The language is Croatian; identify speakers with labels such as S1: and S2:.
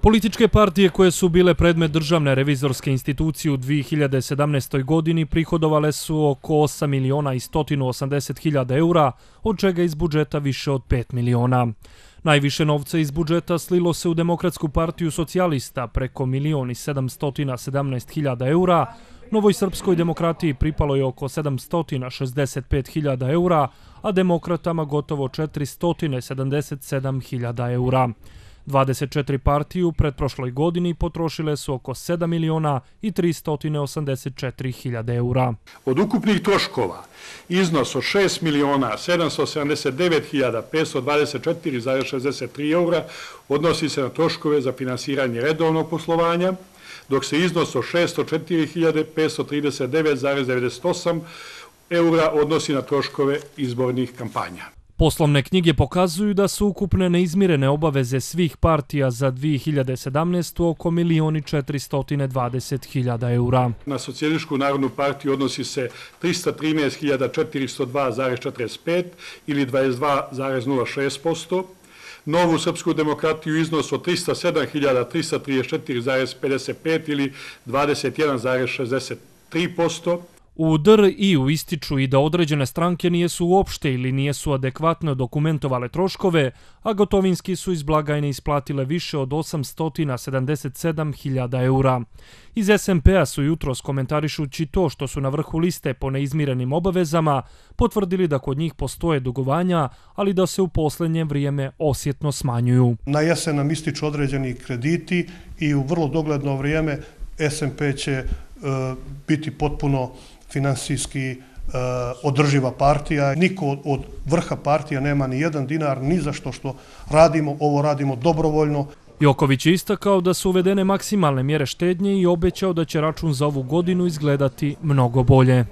S1: Političke partije koje su bile predmet državne revizorske institucije u 2017. godini prihodovale su oko 8 miliona i 180 hiljada eura, od čega iz budžeta više od 5 miliona. Najviše novca iz budžeta slilo se u Demokratsku partiju socijalista preko 1.717 hiljada eura, Novoj srpskoj demokratiji pripalo je oko 765 hiljada eura, a demokratama gotovo 477 hiljada eura. 24 partije u pretprošloj godini potrošile su oko 7 miliona i 384 hiljade eura.
S2: Od ukupnih troškova iznos od 6 miliona 779 hiljada 524,63 eura odnosi se na troškove za finansiranje redovnog poslovanja, dok se iznos od 604 hiljade 539,98 eura odnosi na troškove izbornih kampanja.
S1: Poslovne knjige pokazuju da su ukupne neizmirene obaveze svih partija za 2017. oko 1.420.000 eura.
S2: Na Socijalističku narodnu partiju odnosi se 313.402,45 ili 22,06%, Novu srpsku demokratiju iznos od 307.334,55 ili 21,63%,
S1: U DRI-u ističu i da određene stranke nijesu uopšte ili nijesu adekvatno dokumentovale troškove, a gotovinski su iz blagajne isplatile više od 877.000 eura. Iz SMP-a su jutros, komentarišući to što su na vrhu liste po neizmirenim obavezama, potvrdili da kod njih postoje dugovanja, ali da se u posljednje vrijeme osjetno smanjuju.
S3: Na jesen nam ističu određeni krediti i u vrlo dogledno vrijeme SMP će biti potpuno finansijski održiva partija. Niko od vrha partija nema ni jedan dinar, ni za što radimo, ovo radimo dobrovoljno.
S1: Joković je istakao da su uvedene maksimalne mjere štednje i obećao da će račun za ovu godinu izgledati mnogo bolje.